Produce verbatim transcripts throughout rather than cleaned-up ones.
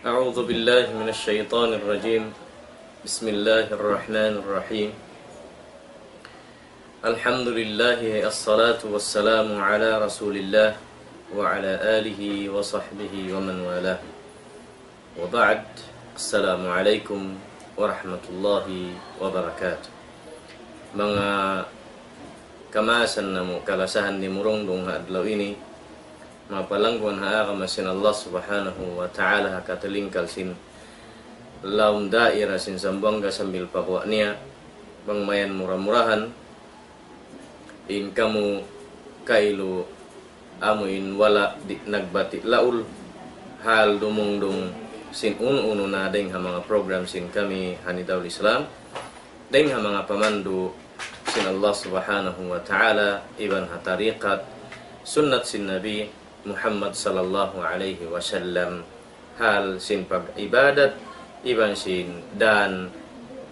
أعوذ بالله من الشيطان الرجيم. بسم الله الرحمن الرحيم. الحمد لله، الصلاة والسلام على رسول الله وعلى آله وصحبه ومن والاه. وبعد، السلام عليكم ورحمة الله وبركاته. Manga kamaasan namu', kalasahan dimurungdung ha adlaw ini, mapalangguan ha agama sin Allah Subhanahu wa Ta'ala, ha katilingkal sin lawm daira sin Zamboanga sambil pa guwa' niya, bang mayan mura-murahan, in kamu kailu amu in wala' di' nagbati' laul, hal dumungdung sin unu-unu na dayng ha manga program sin kami ha Nidaul Islam, dayng ha manga pamandu' sin Allah Subhanahu wa Ta'ala, iban ha tariqat, sunnat sin Nabi Muhammad sallallahu alayhi wasallam, hal sin pag-ibadat, iban sin dan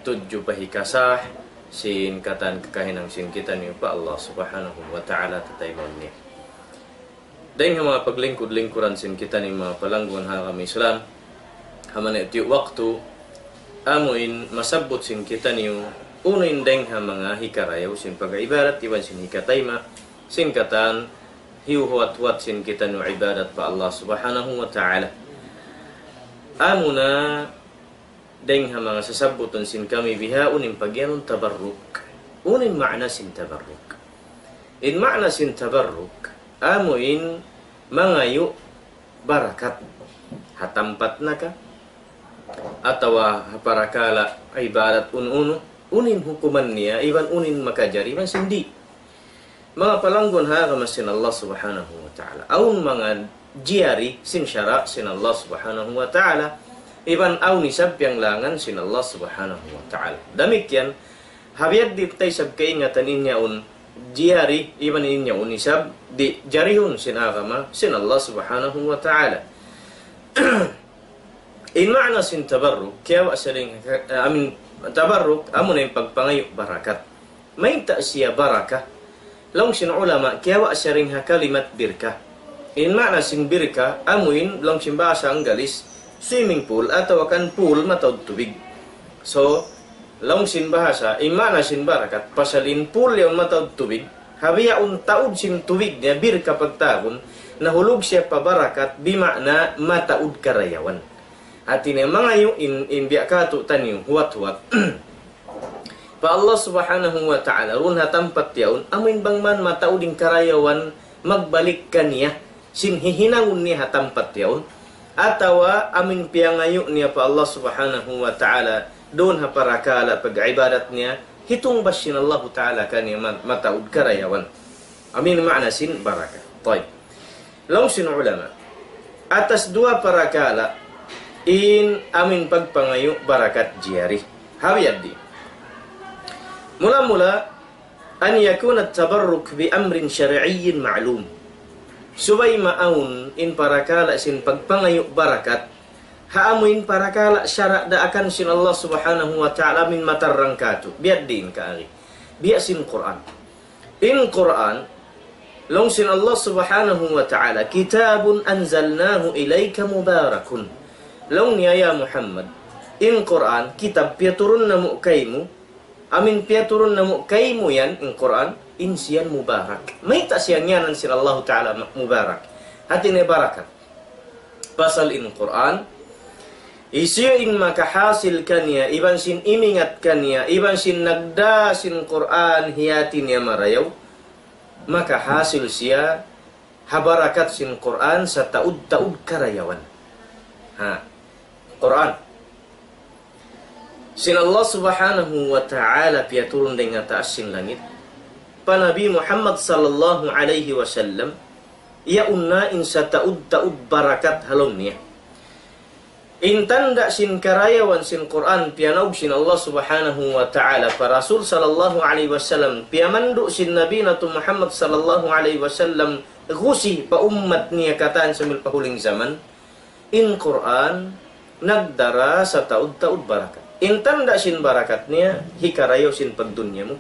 tudju pa hikasah sin katan kakahinang sin kitaniyu pa Allah Subhanahu wa Ta'ala tataymaun niya. Dayng ha manga paglingkud-lingkuran sin kitaniyu mapalangguan ha agama Islam, ha manga tiyu' waktu, amu in masabbut sin kitaniyu, unu in dayng ha manga hikarayaw sin pag-ibadat, iban sin hikatayma', sin katan hiyuhuwat-huwat sin kitaniyu ibadat pa Allah Subhanahu wa Ta'ala. Amuna dayng ha manga sasabbutun sin kami bihaun in pagiyanun tabarruk. Unu in ma'na sin tabarruk? In ma'na sin tabarruk, amu in mangayu' barakat. Ha tampat na ka, atawa ha parakala' ibadat unu-unu, unu in hukuman niya, iban unu in makajari, iban sin di'. Manga palangguan ha agama sin Allah Subhanahu wa Ta'ala. Awn manga jiyari sin sara' sin Allah Subhanahu wa Ta'ala. Iban awn isab piyanglangan sin Allah Subhanahu wa Ta'ala. Damikkiyan, ha biya' diin ta isab kaingatan in yaun jiyari, iban in yaun isab di' jarihun sin agama sin Allah Subhanahu wa Ta'ala. In ma'na sin tabarruk, kiyawa' siya dayn, I mean, tabarruk, amuna in pagpangayu' barakat. Mayta' siya baraka? Laung sin ulama, kiyawa' siya dayn ha kalimat birka. In ma'na sin birka, amu in, laung sin bahasa Anggalis, swimming pool, atawa kan pool mataud tubig. So, laung sin bahasa, in ma'na sin barakat, pasal in pool yaun mataud tubig, ha bihaun taud sin tubig niya, birka pagtawagun, nahulug siya pa barakat, bima'na mataud karayawan. Hati niya mangayu' in, in biya' katu' taniyu, huwat-huwat. Pa Allah Subhanahu wa Ta'ala, duun ha tampat yaun, amu in bang man mataud in karayawan magbalik kaniya, sin hihinangun niya ha tampat yaun, atawa amu in piyangayu' niya pa Allah Subhanahu wa Ta'ala, duun ha parakala' pag-ibadat niya, hitungbas sin Allahu Ta'ala kaniya ma-, mataud karayawan. Amu in ma'na sin barakat. Tayyib. Laung sin ulama, atas duwa parakala' in amu in pagpangayu' barakat jiyari. Ha biya' diin. Mula-mula, أن يكون التبرك بأمر شرعي معلوم. Subay maawn in parakala' sin pagpangayu' barakat, ha amu in parakala' sara' daakan sin Allah Subhanahu wa Ta'ala amu in matarrang katu'. Biya' diin kaagi. Biya' sin Qur'an. In Qur'an, laung sin Allah Subhanahu wa Ta'ala, كتاب أنزلناه إليك مبارك. Laung niya, ya Muhammad, in Qur'an, kitab piyaturun namu' kaymu, amu in piyaturun namu' kaymu yan, in Qur'an, in siya yan mubarak. Mayta' siya ngiyanan sin Allahu Ta'ala ma-, mubarak? Hati niya barakat. Pasal in Qur'an, hisiyu in makahasil kaniya, iban sin imingat kaniya, iban sin nagdā sin Qur'an, hiyati niya marayaw, makahasil siya ha barakat sin Qur'an sataud-taud karayawan. Ha. Qur'an. Sin Allah Subhanahu wa Ta'ala piyaturun dayn ha taas sin langit pa Nabi Muhammad sallallahu alayhi wasallam, yaun na in sataud-taud barakat ha lawm niya. In tanda' sin karayawan sin Qur'an piyanaug sin Allah Subhanahu wa Ta'ala pa Rasul sallallahu alayhi wasallam, piyamandu' sin Nabi natu' Muhammad sallallahu alayhi wasallam, gusi pa ummat niya katan sambil pa huling jaman. In Qur'an nagdara sataud-taud barakat. In tanda' sin barakat niya, hikarayaw sin pagdunya mu,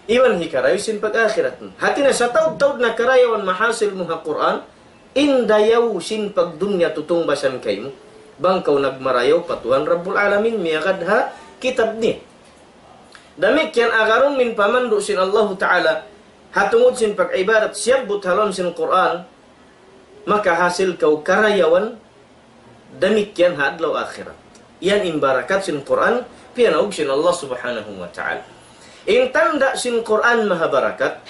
iban hikarayaw sin pag-akhirat mu. Hati niya sataud-taud na karayawan mahasil mu ha Qur'an, in dayaw sin pagdunya tutungbasan kaymu. Bang kaw nagmarayaw pa Tuhan Rabbul Alamin, miyagad ha kitab niya. Damikkiyan agarun min pamandu' sin Allahu Ta'ala, ha tungud sin pag-ibadat siyabbut ha lawm sin Qur'an, makahasil kaw karayawan, damikkiyan ha adlaw akhirat. Yan in barakat sin Qur'an, piyanaug sin Allah Subhanahu wa Ta'ala. In tanda' sin Qur'an maha barakat,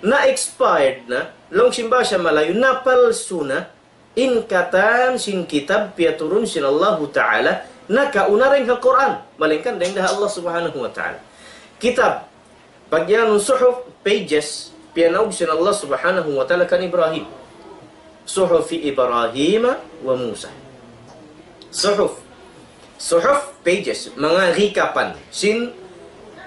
na-expired na, laung sin bahasa Malayu, napalsu na, in katan sin kitab piyaturun sin Allahu Ta'ala, nakauna dayn ha Qur'an, malaingkan dayn ha Allah Subhanahu wa Ta'ala. Kitab, pagyanun suhuf, pages, piyanaug sin Allah Subhanahu wa Ta'ala kan Ibrahim. Suhufi Ibrahim wa Musa. Suhuf. Suhuf, pages, manga hikapan. Sin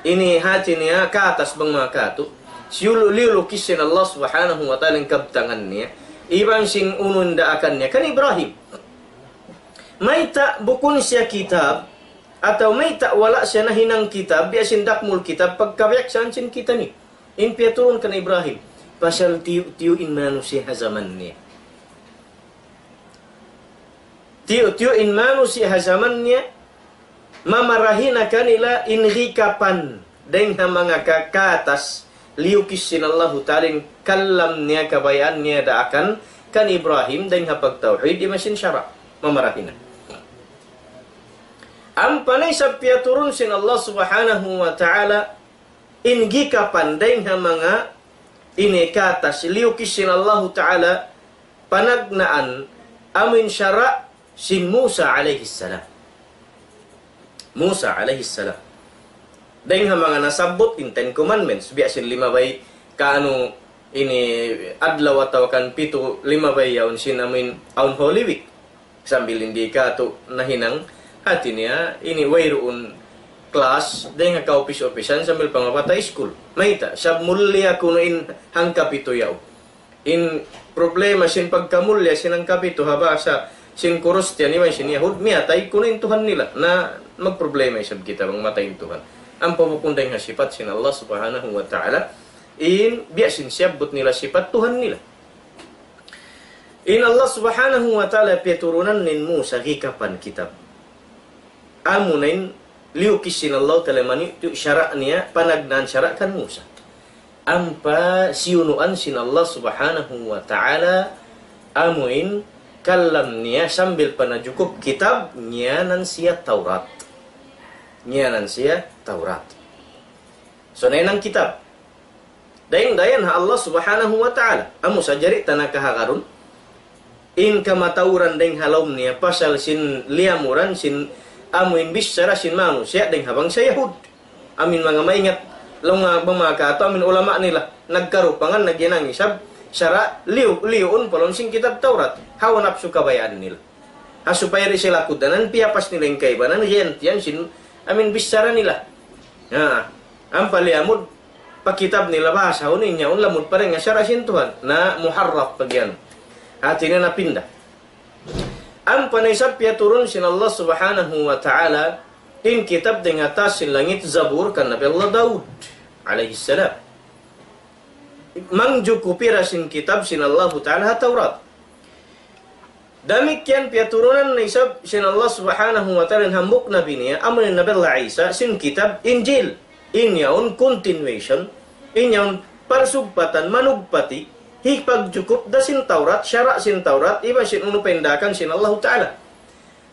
ini hati niya katas bang manga katu'. Siyulu-, liyulukis sin Allah Subhanahu wa Ta'ala in kabtangan niya. Iban sin unu in daakan niya. Kan Ibrahim. Mayta' bukun siya kitab, atawa mayta' wala' siya nahinang kitab, biya' sin dakmul kitab, pagkabiyaksaan sin kita ini. In piyaturun kan Ibrahim. Pasal tiyu'-tiyu' in manusiya' ha jaman niya. Tiyu'-tiyu' in manusiya' ha jaman niya, mamarahi na kanila in hikapan dayn ha manga ka-, katas, liyukis sin Allahu Ta'ala in kalam niya, kabayaan niya daakan kan Ibrahim dayn ha pagtawhid, iban sin sara', mamarahi na. Ampa na isab piyaturun sin Allah Subhanahu wa Ta'ala in hikapan dayn ha manga ini katas, liyukis sin Allahu Ta'ala panagnaan amuin sara' sin Musa alayhi salam. Musa alayhi salam. Dayn ha manga nasabbut in Ten Commandments, biya' sin limabay kaanu ini adlaw atawa kan pitu, limabay yaun sin amuin awn Holy Week. Sambil in di' katu' nahinang, hati niya, ini wayruun class, dayn ha kaupis-upisan sambil pa mabata' iskul. Mayta', sab mulliya kunu' in hangkapitu yaun. In problema sin pagkamulliya sin hangkapitu ha bahasa sin Kristiyan iban sin Yahud, miyatay kunu' in Tuhan nila. Na magproblema isab kita bang matay in Tuhan. Ampa bukun dayn ha sipat sin Allah Subhanahu wa Ta'ala, in biya' sin siyabbut nila sipat Tuhan nila. In Allah Subhanahu wa Ta'ala piyaturunan in Musa hikapan kitab. Amuna in liyukis sin Allah Ta'ala mani tu sara' niya, panagnaan sara' kan Musa. Ampa siyunuan sin Allah Subhanahu wa Ta'ala amuin kalam niya sambil pa najukup kitab, ngiyanan siya Tawrat. Ngiyanan siya Tawrat. So, nahinang kitab. Dayn, dayan ha Allah Subhanahu wa Ta'ala. Amu sa jari ta nakahagarun. In kamatauran dayn ha lawm niya, pasal sin liyamuran, sin amuin bichara sin manusiya' dayn ha bangsa Yahud. Amuin manga maingat, laung nga bang manga katu', amuin ulama nila, nagkarupangan, nagyanang isab, sara', liyu, liyuun pa lawm sin kitab Tawrat. Hawa napsu kabayaan nila. Ha supaya di' sila kudanan, piyapas nila in kaibanan, giyantian sin, amuin bichara nila. Ha, ampa liyamud, pa kitab nila bahasahun in yaun lamud pa dayn ha sara' sin Tuhan. Na muharraf pa giyan. Hati niya napinda. Ampa na isab piyaturun sin Allah Subhanahu wa Ta'ala in kitab dayn ha taas sin langit, Zabur, kan Nabi Allah Daud alayhi salam. Mangjukupi ra sin kitab sin Allahu Ta'ala ha Tawrat. Damikkiyan piyaturunan na isab sin Allah Subhanahu wa Ta'ala in hambuuk nabi niya, amu in Nabi Allah Isa, sin kitab Injil. In yaun continuation, in yaun parsugpatan, manugpati, hipagjukup da sin Tawrat, sara' sin Tawrat, iban sin unu pa in daakan sin Allahu Ta'ala.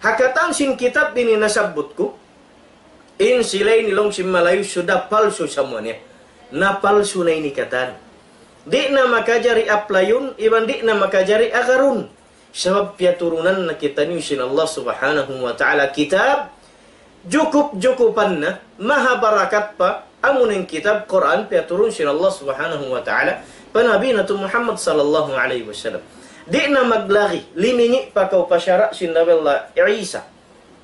Ha katan sin kitab ini nasabbut ku, in sila ini laung sin Malayu sudah palsu samuanya. Napalsu na ini katan. Di' na makajari apply-un, iban di' na makajari agarun. Sabab piyaturunan na kitaniyu sin Allah Subhanahu wa Ta'ala kitab, jukup-jukupan na, maha barakat pa, amu na in kitab Qur'an piyaturun sin Allah Subhanahu wa Ta'ala, pa Nabi natu' Muhammad sallallahu alayhi wasallam. Di' na maglagi, limingi' pa kaw pa sara' sin Nabi Allah Isa.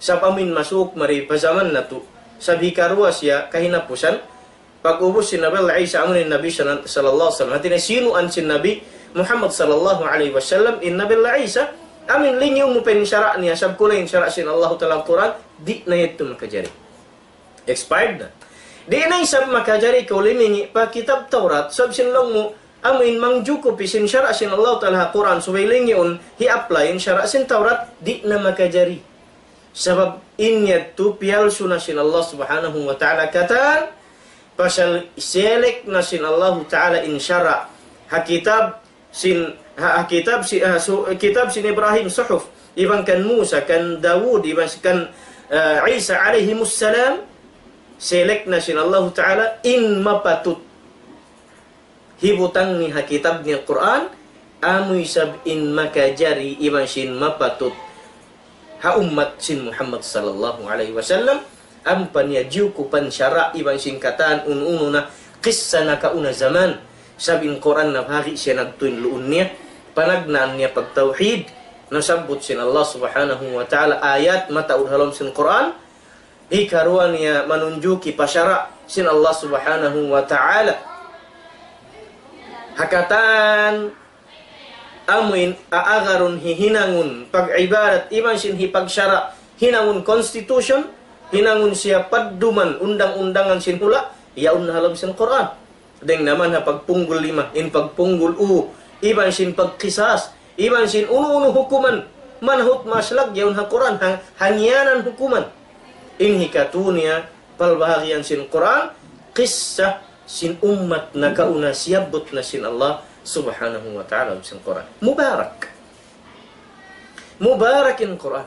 Sabab amuin masuuk mari pa jaman natu'. Sabab hikaruwa siya kahinapusan. Pag'ubus sin Nabi Allah Isa, amu in Nabi sal-, sallallahu alayhi wasallam. Hati niya siyunuan sin Nabi Muhammad sallallahu alayhi wasallam, in Nabi Allah Isa, amuin lingiun mu pa in sara' niya, sabab kunu' in sara' sin Allahu Ta'ala Qur'an, di' na yadtu makajari. Expired na. Di' na isab makajari kaw limingi' pa kitab Tawrat, sabab sin laung mu, amuin mangjukup sin sara' sin Allah Ta'ala ha Qur'an, subay lingiun hi-apply in sara' sin Tawrat, di' na makajari. Sabab in yadtu piyalsu na sin Allah Subhanahu wa Ta'ala katan, pasal select na sin Allah Ta'ala in sara' ha kitab sin, ha, ha kitab si, ha, su, kitab sin Ibrahim, suhuf, iban kan Musa, kan Dawud, iban kan, uh, Isa alayhimus salam, select na sin Allah Ta'ala in mapatut hibutang niya ha kitab niya Qur'an, amu isab in makajari iban sin mapatut ha ummat sin Muhammad sallallahu alayhi wasallam, ampa niya jiyukupan sara' iban sin katan unu-unu na kissa nakauna jaman, sabab in Qur'an nabahagi' siya nagtuy luun niya, panagnaan niya pagtawhid, nasabbut sin Allah Subhanahu wa Ta'ala ayat mataud ha lawm sin Qur'an, hikaruwa niya manunjuki pa sara' sin Allah Subhanahu wa Ta'ala. Ha katan amuin aagarun hihinangun pag-ibadat iban sin hipagsara' hinangun constitution, hinangun siya padduman undang-undangan sin hula', yaun na ha lawm sin Qur'an. Dayng naman ha pagpunggul lima, in pagpunggul u, iban sin pagqisas, iban sin unu-unu hukuman, manhut maslag yaun ha Qur'an, ha, hangiyanan hukuman. In hikatu niya, palbahagian sin Qur'an, kissa sin ummat nakauna siyabbut na sin Allah Subhanahu wa Ta'ala sin Qur'an. Mubarak. Mubarak in Qur'an.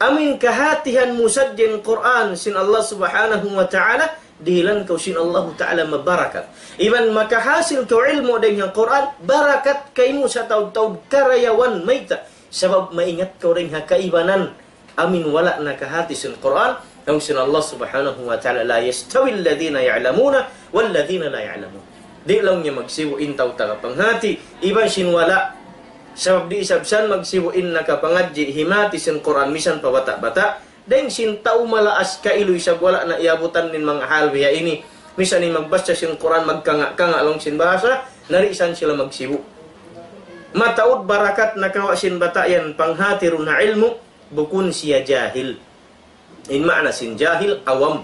Amuin kahatihan mu sadja in Qur'an sin Allah Subhanahu wa Ta'ala, dihilan kaw sin Allah Ta'ala mabarakat. Iban makahasil kaw ilmu' dayng ha Qur'an, barakat kaymu sataud-taud karayawan mayta'. Sabab maingat kaw dayng ha kaibanan amuin wala' nakahati sin Qur'an, laung sin Allah Subhanahu wa Ta'ala, لا يستوي الذين يعلمون والذين لا يعلمون. Di' laung niya magsibu' in tau taga panghati, iban sin wala'. Sabab di' isab san magsibu' in nakapangadji' himati sin Qur'an misan pa bata'-bata'. Dayng sin tau malaas kailu isab wala' na iyabutan in manga hal biya' ini. Misan in magbassa sin Qur'an magkanga'-kanga' laung sin bahasa, na di' san sila magsibu'. Mataud barakat nakawa' sin bata' yan panghati duun ha ilmu', bukun siya jahil. In maana sin jahil, awam.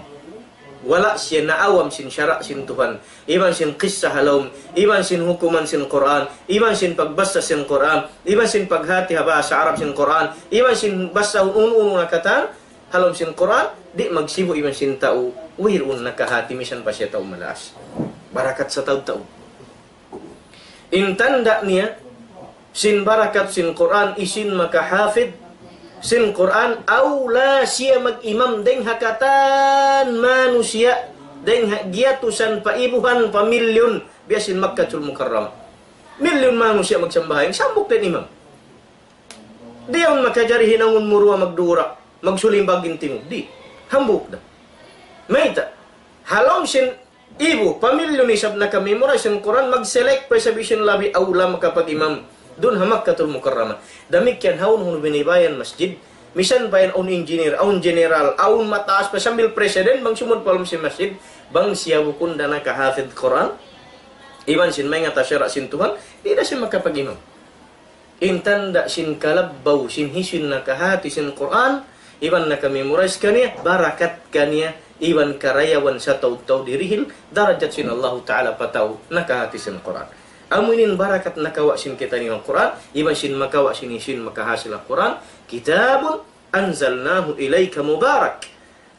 Wala' siya naawam sin sara' sin Tuhan. Iban sin kissa ha lawm, iban sin hukuman sin Qur'an, iban sin pagbassa sin Qur'an, iban sin paghati ha bahasa Arab sin Qur'an, iban sin bassa unu-unu na katan ha lawm sin Qur'an, di' magsibu' iban sin tau wayruun nakahati misan pa siya tau malaas. Barakat sataud-taud. In tanda' niya, sin barakat sin Qur'an, hisiyu in makahafid sin Qur'an, awla siya mag-imam dayng ha katan manusiya', dayng ha giyatusan pa ibuhan pa milyun, biya' sin Makkatul Mukarramah. Milyun manusiya' magsambahayang, hambuuk da in imam. Di' yaun makajari hinangun mu duwa magdura, magsulimbag in tingug. Di'. Hambuuk da. Mayta'? Ha lawm sin ibu, pa milyun isab naka-memorize sin Qur'an, mag-select pa isab hisiyu in labi awla makapag-imam duun ha Makkatul Mukarramah. Damikkiyan hawnu-hawnu binibayan masjid. Misan pa yan awn engineer, awn general, awn mataas pa sambil president, bang sumud pa lawm sin masjid, bang siya bukun da nakahafid Qur'an, iban sin maingat ha sara' sin Tuhan, di' da siya makapag-imam. In tanda' sin kalabbaw sin hisiyu in nakahati sin Qur'an, iban naka-memorize kaniya, barakat kaniya, iban karayawan sataud-taud dirihil darajat sin Allahu Ta'ala pa tau nakahati sin Qur'an. Amu ini in barakat nakawa' sin kitaniyu ha Qur'an, iban sin makawa' sin hisiyu in makahasil ha Qur'an, كتاب أنزلناه إليك مبارك.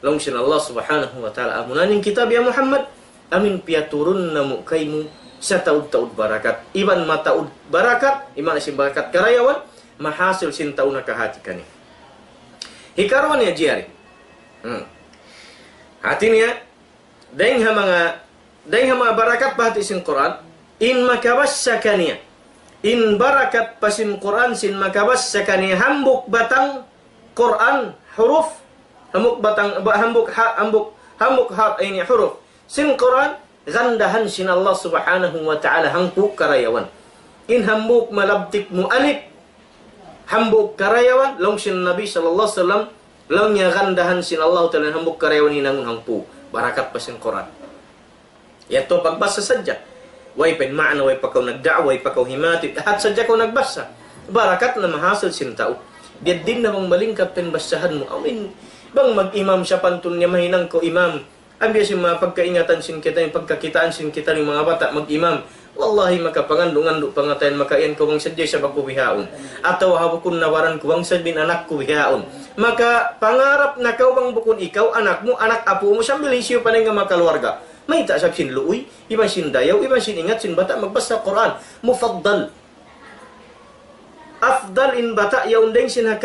Laung sin Allah Subhanahu wa Ta'ala, amuna in kitab ya Muhammad, amuin piyaturun namu' kaymu sataud-taud barakat. Iban mataud barakat, iban sin barakat karayawan, mahasil sin tau nakahati kaniya. Hikaruwa niya jari. Hmm. Hati niya, dayng ha manga, dayng ha manga barakat bahati sin Qur'an, in makabassa kaniya. In barakat pa sin Qur'an sin makabassa kaniya hambuuk batang Qur'an huruf, hambuuk batang, ba-, hambuuk ha-, hambuuk, hambuuk ha-, ini huruf sin Qur'an, gandahan sin Allah Subhanahu wa Ta'ala hangpu' karayawan. In hambuuk malabtik mu alif, hambuuk karayawan, laung sin Nabi sallallahu alayhi wasallam, laung niya gandahan sin Allah Ta'ala hambuuk karayawan hinangun hangpu'. Barakat pa sin Qur'an. Yadtu pagbassa sadja. Way pa in maana, way pa kaw nagda'wa, way pa kaw himati. Hat sadja kaw nagbassa. Barakat na mahasil sin tau. Biya' diin na bang malingkat pa in bassahan mu. Amin. Bang mag-imam sapantun niya mahinang kaw imam. Ambiya' sin manga pagkaingatan sin kita, in pagkakitaan sin kita in manga bata' mag-imam. Wallahi, maka pangandu'-ngandu' pangatayan, maka yan kaw bang sadja isab aku bihaun. Atawa ha bukun nawaran ku bang sadja in anak ku bihaun. Maka pangarap na kaw bang bukun ikaw, anak mu, anak apu' mu, sambil hisiyu pa in manga kaluarga. Mayta' isab sin luuy, iban sin dayaw, iban sin ingat sin bata' magbasa Qur'an. Mufaddal. Afdal in bata' yaun dayn sin ha